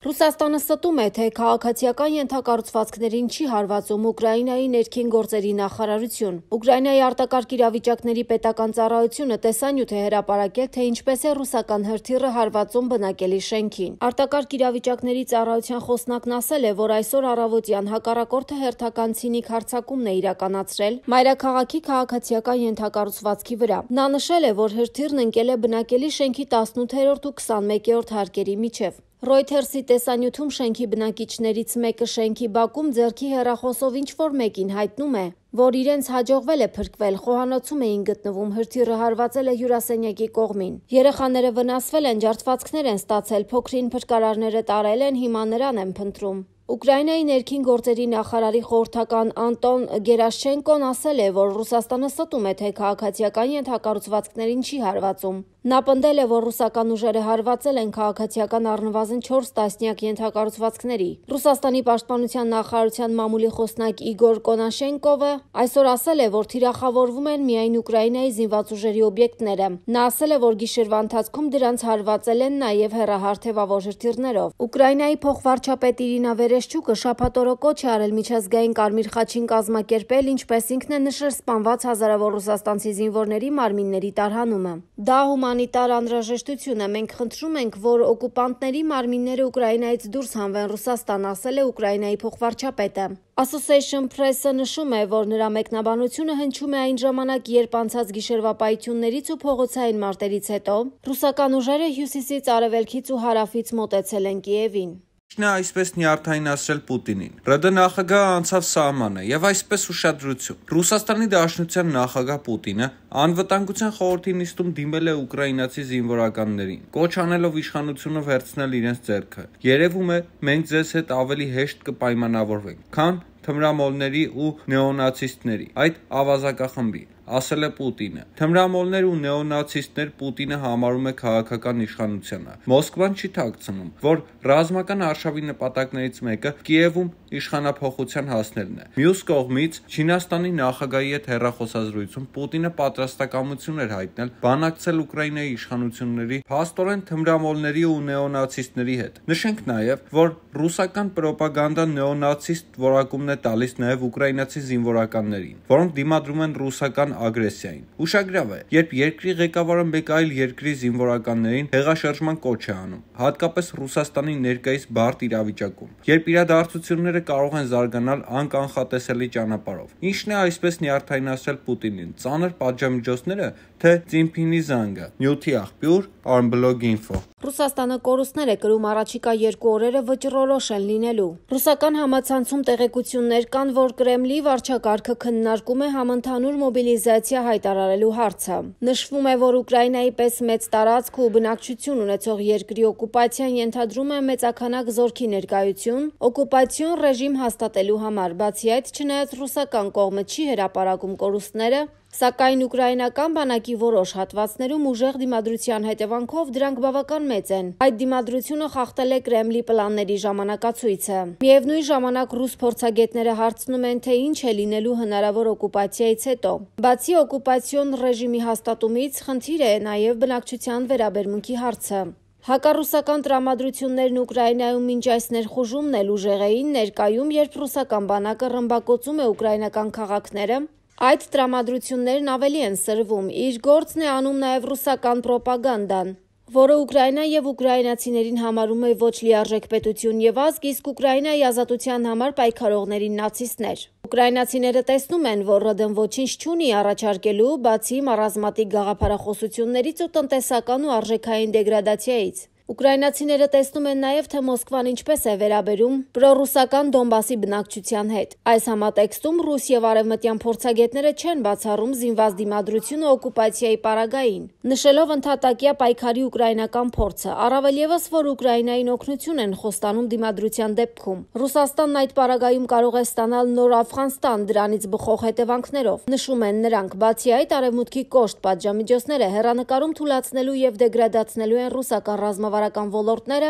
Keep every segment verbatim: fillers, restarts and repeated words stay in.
Ռուսաստանը ստում է, թե քաղաքացիական ենթակառուցվածքներին չի հարվածում Ուկրաինայի ներքին գործերի նախարարություն։ Ուկրաինայի արտակարգ իրավիճակների պետական ծառայությունը տեսանյութ է հրապարակել, թե ինչպես է ռուսական հրթիռը հարվածում բնակելի շենքին։ Արտակարգ իրավիճակների ծառայության խոսնակն ասել է, որ այսօր առավոտյան հակառակորդը հերթական ցինիկ հարձակումն է իրականացրել մայրաքաղաքի քաղաքացիական ենթակառուցվածքի վրա։ Նա նշել է, որ հրթիռն ընկել է բնակելի շենքի տասնութերորդ ու քսանմեկերորդ հարկերի միջև։ Reuters-ի տեսանյութում շենքի բնակիչներից մեկը շենքի բակում ձեռքի հեռախոսով ինչ-որ մեկին հայտնում է, որ իրենց հաջողվել է փրկվել, խոհանոցում էին գտնվում, հրթիռը հարվածել է հյուրասենյակի կողմին։ Երեխաները վնասվել են, ջարդվածքներ են ստացել, փոքրին փրկարարները տարել են, հիմա նրան են փնտրում։ Ուկրաինայի ներքին գործերի նախարարի խորհրդական Անտոն Գերաշչենկոն ասել է, որ Ռուսաստանը ստում է, թե քաղաքացիական ենթակառուցվածքներին չի հարվածում։ Նա պնդել է, որ ռուսական ուժերը հարվածել են քաղաքացիական առնվազն չորս տասնյակ ենթակառուցվածքների։ Ռուսաստանի պաշտպանության նախարարության մամուլի խոսնակ Իգոր Կոնաշենկովը այսօր ասել է, որ թիրախավորվում են միայն Ուկրաինայի զինված ուժերի օբյեկտները։ Նա ասել է, որ գիշերվա ընթացքում դրանց հարվածել են նաև հեռահարթևավոր հրթիռներով։ Ուկրաինայի փոխվարչապետ Իրինա Վերեշչուկը շաբաթ օրը կոչ է արել միջազգային Կարմիր խաչին կազմակերպել, ինչպես ինքն է նշել, սպանված հազարավոր ռուսաստանցի զինվորների մարմինների տարհանումը։ Դա հումանիտար անհրաժեշտություն է, մենք խնդրում ենք, որ օկուպանտների մարմինները Ուկրաինայից դուրս հանվեն Ռուսաստան, ասել է Ուկրաինայի փոխվարչապետը։ Association Press-ը նշում է, որ նրա մեկնաբանությունը հնչում է այն ժամանակ, երբ անցած գիշերվա պայթյուններից ու փողոցային մարտերից հետո ռուսական ուժերը հյուսիսից, արևելքից ու հարավից մոտեցել են Կիևին։ Նա այսպես նյարդայնացրել Պուտինին։ ՌԴ նախագահը անցավ սահմանը եւ այսպես ուշադրություն։ Ռուսաստանի Դաշնության նախագահ Պուտինը անվտանգության խորհրդի նիստում դիմել է ուկրաինացի զինվորականներին, կոչ անելով իշխանությունը վերցնել իրենց ձեռքը։ Երևում է, մենք ձեզ հետ ավելի հեշտ կպայմանավորվենք, քան թմրամոլների ու նեոնացիստների, այդ ավազակախմբի, ասել է Պուտինը։ Թմրամոլներ ու նեոնացիստներ Պուտինը համարում է քաղաքական իշխանությանը։ Մոսկվան չի թաքցնում, որ ռազմական արշավի նպատակներից մեկը Կիևում իշխանափոխության հասնելն է։ Մյուս կողմից, Չինաստանի նախագահի հետ հեռախոսազրույցում Պուտինը պատրաստակամություն էր հայտնել բանակցել Ուկրաինայի իշխանությունների փաստորեն թմրամոլների ու նեոնացիստների հետ։ Նշենք նաև, որ ռուսական պրոպագանդան նեոնացիստ որակումն է տալիս նաև ուկրաինացի զինվորականներին, որոնք դիմադրում են ռուսական ագրեսիային։ Ուշագրավ է, երբ երկրի ղեկավարը մեկ այլ երկրի զինվորականներին հեղաշրջման կոչ է անում, հատկապես Ռուսաստանի ներկայիս բարդ իրավիճակում, երբ իրադարձությունները կարող են զարգանալ անկանխատեսելի ճանապարհով։ Ինչն է այսպես նյարդայնացրել Պուտինին, ծանր պատժամիջոցները, թե Ծինփինի զանգը։ Նյութի աղբյուր Armblog Info։ Ռուսաստանը կորուստներ է կրում առաջիկա երկու օրերը վճռորոշ են լինելու։ Ռուսական համացանցում տեղեկություններ կան, որ Կրեմլի վարչակարգը քննարկում է համընդհանուր մոբիլիզացիա հայտարարելու հարցը։ Նշվում է, որ Ուկրաինայի պես մեծ տարածք ու բնակչություն ունեցող երկրի օկուպացիան ենթադրում է մեծաքանակ զորքի ներկայություն օկուպացիոն ռեժիմ հաստատելու համար։ Բացի այդ, չնայած ռուսական կողմը չի հրապարակում կորուստները, սակայն ուկրաինական բանակի որոշ հատվածներում ուժեղ դիմադրության հետևանքով դրանք բավական մեծ են։ Այդ դիմադրությունը խախտել է Կրեմլի պլանների ժամանակացույցը։ Միևնույն ժամանակ ռուս փորձագետները հարցնում են, թե ինչ է լինելու հնարավոր օկուպացիայից հետո։ Բացի օկուպացիոն ռեժիմի հաստատումից, խնդիր է նաև բնակչության վերաբերմունքի հարցը։ Հակառուսական տրամադրություններն Ուկրաինայում մինչ այս ներխուժումն էլ ուժեղ էին, ներկայում, երբ ռուսական բանակը ռմբակոծում է ուկրաինական քաղաքները, այդ տրամադրություններն ավելի են սրվում։ Իր գործն է անում նաև ռուսական պրոպագանդան, որը Ուկրաինա եւ ուկրաինացիներին համարում է ոչ լիարժեք պետություն եւ ազգ, իսկ Ուկրաինայի ազատության համար պայքարողներին նացիստներ։ Ուկրաինացիները տեսնում են, որ ՌԴ-ն ոչինչ չունի առաջարկելու, բացի ռազմատիկ գաղափարախոսություններից ու տնտեսական ու արժեքային դեգրադացիայից։ Ուկրաինացիները տեսնում են նաև, թե Մոսկվան ինչպես է վերաբերում պրոռուսական Դոնբասի բնակչության հետ։ Այս համատեքստում ռուս եւ արևմտյան փորձագետները չեն բացառում զինված դիմադրությունը օկուպացիայի պարագային, նշելով ընդհատակյա պայքարի ուկրաինական փորձը, առավել ևս, որ Ուկրաինային օգնություն են խոստանում դիմադրության դեպքում։ Ռուսաստանն այդ պարագայում կարող է ստանալ նոր Աֆղանստան դրանից բխող հետևանքներով, նշում են նրանք։ Բացի այդ, արևմուտքի կոշտ պատժամիջոցները հեռանկարում թուլացնելու եւ դեգրադացնելու են ռուսական ռազմավարական ոլորտները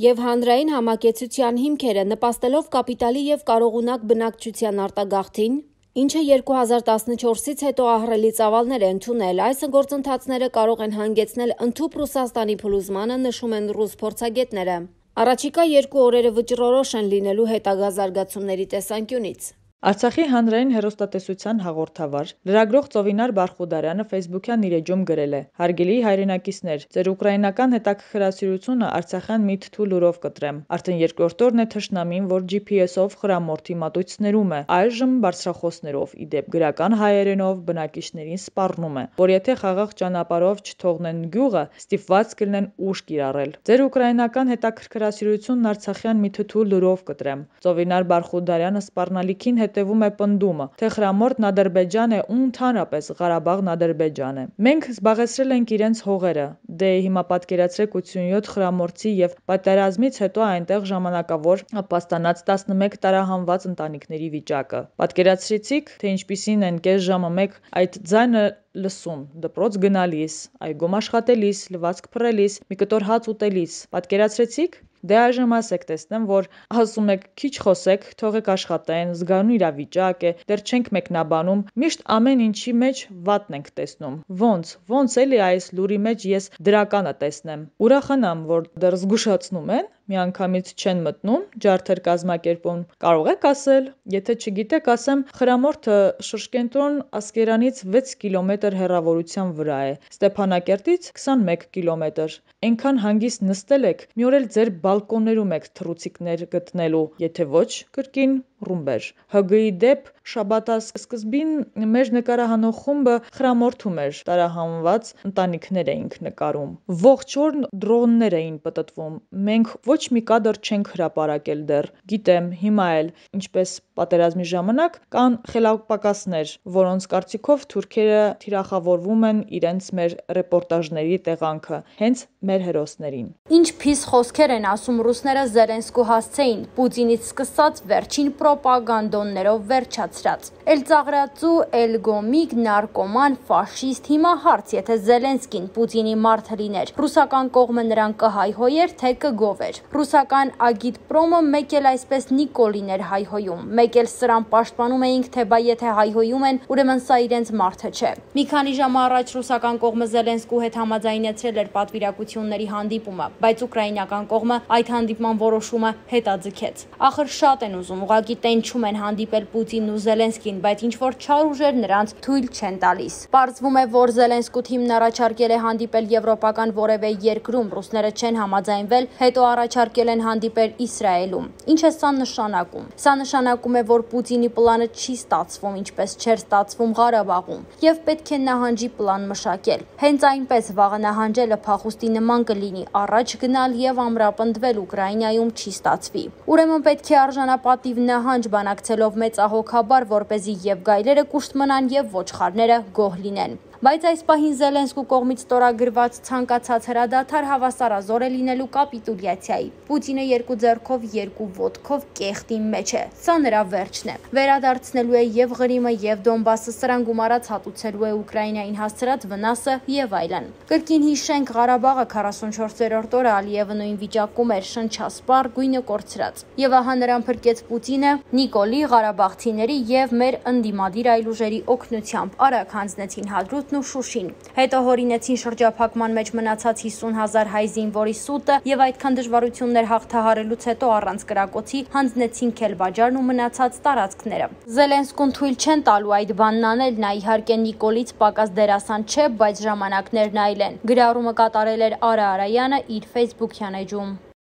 եւ հանրային համակեցության հիմքերը, նպաստելով կապիտալի եւ կարողունակ բնակչության արտագաղթին, ինչը երկու հազար տասնչորսից հետո ահռելի ծավալներ է ընդունել։ Այս գործընթացները կարող են հանգեցնել ընդհուպ Ռուսաստանի փլուզմանը, նշում են ռուս փորձագետները։ Առաջիկա երկու օրերը վճռորոշ են լինելու հետագա զարգացումների տեսանկյունից։ Արցախի հանրային հեռուստատեսության հաղորդավար, լրագրող Ծովինար Բարխուդարյանը ֆեյսբուքյան իր էջում գրել է. «Հարգելի հայրենակիցներ, ձեր ուկրաինական հետաքրքրասիրությունը Արցախյան մի թթու լուրով կտրեմ։ Արդեն երկրորդ օրն է թշնամին, որ ջի փի էսով խրամորդի մատույցներում է, այժմ բարձրախոսներով, իդեպ գրական հայերենով բնակիչներին սպառնում է, որ եթե խաղաղ ճանապարհով չթողնեն գյուղը, ստիպված կլինեն ուժ կիրառել։ Ձեր ուկրաինական հետաքրքրասիրությունն Արցախյան մի թթու լուրով կտրեմ»։ Ծովինար Բարխուդարյանը սպառնալիքին հետևում է պնդումը, թե խրամորդն Ադրբեջան է ու ընդհանրապես Ղարաբաղն Ադրբեջան է։ Մենք զբաղեցրել ենք իրենց հողերը, դե հիմա պատկերացրեք ութսունյոթ խրամորդի եւ պատերազմից հետո այնտեղ ժամանակավոր ապաստանած տասնմեկ տարահանված ընտանիքների վիճակը։ Պատկերացրեցիք, թե ինչպիսին են կես ժամը մեկ այդ ձայնը լսում, դպրոց գնալիս, այգում աշխատելիս, լվացք փռելիս, մի կտոր հաց ուտելիս։ Պատկերացրեցիք։ Դե այժմ ասեք, տեսնեմ, որ ասում եք քիչ խոսեք, թողեք աշխատեն, զգանու իրավիճակ է, դեռ չենք մեկնաբանում, միշտ ամեն ինչի մեջ վատն ենք տեսնում։ Ոնց, ոնց էլի այս լուրի մեջ ես դրականը տեսնեմ։ Ուրախանամ, որ դեռ զգուշացնում են, միանգամից չեն մտնում, ջարդեր կազմակերպում։ Կարող եք ասել, եթե չգիտեք, ասեմ, խրամորդը շրջկենտրոն Ասկերանից վեց կիլոմետր հեռավորության վրա է, Ստեփանակերտից քսանմեկ կիլոմետր։ Այնքան հանգիստ նստել եք, մի օր էլ ձեր բալկոններում եք թռուցիկներ գտնելու, եթե ոչ, կրկին ռումբեր։ հը գի-ի դեպ շաբաթասկզբին մեր նկարահանող խումբը խրամորդում էր, տարահանված ընտանիքներ էինք նկարում։ Ողջ օրն դրոններ էին պտտվում։ Մենք ոչ մի կադր չենք հրապարակել դեռ։ Գիտեմ, հիմա էլ, ինչպես պատերազմի ժամանակ, կան խելապակասներ, որոնց կարծիքով թուրքերը թիրախավորվում են իրենց մեր ռեպորտաժների տեղանքը, հենց մեր հերոսներին։ Ինչ փիս խոսքեր են ասում ռուսները Զելենսկու հասցեին, Պուտինից սկսած վերջին պրոպագանդոններով վերջացրած։ Էլ ծաղրածու, էլ գոմիկ, նարկոման, ֆաշիստ, հիմա հարց, եթե Զելենսկին Պուտինի մարդը լիներ, ռուսական կողմը նրան կհայհոյեր, թե կգովեր։ Ռուսական ագիտպրոմը մեկ էլ այսպես Նիկոլին էր հայհոյում, մեկ էլ սրան պաշտպանում էինք, թե բա եթե հայհոյում են, ուրեմն սա իրենց մարդը չէ։ Մի քանի ժամ առաջ ռուսական կողմը Զելենսկու հետ համաձայնեցրել էր պատվիրակությունների հանդիպումը, բայց ուկրաինական կողմը այդ հանդիպման որոշումը հետաձգեց։ Ախր շատ են ուզում, ուղղակի տենչում են հանդիպել Պուտինն ու Զելենսկին, բայց ինչ որ չար ուժեր նրանց թույլ չեն տալիս։ Պարզվում է, որ Զելենսկու թիմն առաջարկել է հանդիպել եվրոպական որևէ երկրում, ռուսները չեն համաձայնվել, հետո առաջարկել են հանդիպել Իսրայելում։ Ինչ է սա նշանակում։ Սա նշանակում է, որ Պուտինի պլանը չի ստացվում, ինչպես չէր ստացվում Ղարաբաղում, եւ պետք է նահանջի պլան մշակել։ Հենց այնպես վաղը նահանջելը փախուստի նման կլինի, առաջ գնալ եւ ամրապնդվել Ուկրաինայում չի ստացվի։ Ուրեմն պետք է արժանապատիվ նահանջ բանակցելով մեծահոգաբար, որպեսզի եւ գայլերը կուշտ մնան եւ ոչխարները գոհ լինեն։ Բայց այս պահին Զելենսկու կողմից ստորագրված ցանկացած հրադադար հավասարազոր է լինելու կապիտուլյացիայի։ Պուտինը երկու ձեռքով, երկու ոտքով կեղտի մեջ է։ Սա նրա վերջն է։ Վերադարձնելու է եւ Ղրիմը եւ Դոնբասը, սրան գումարած հատուցելու է Ուկրաինային հասցրած վնասը եւ այլն։ Կրկին հիշենք, Ղարաբաղը քառասունչորսերորդ օրը Ալիևը նույն վիճակում էր, շնչասպառ, գույնը կորցրած։ Եվ ահա նրան փրկեց Պուտինը Նիկոլի, ղարաբաղցիների եւ մեր ընդդիմադիր այլ ուժերի օգնությամբ։ Արագ հանձնեցին Հադրութ ու Շուշին։ Հետո հորինեցին շրջափակման մեջ մնացած հիսուն հազար հայ զինվորի սուտը եւ այդքան դժվարություններ հաղթահարելուց հետո առանց կրակոցի հանձնեցին Քելբաջարն ու մնացած տարածքները։ Զելենսկուն թույլ չեն տալու այդ բանն անել, նա իհարկե Նիկոլից պակաս դերասան չէ, բայց ժամանակներն այլ են։ Գրառումը կատարել էր Արա Արայանը իր ֆեյսբուքյան էջում։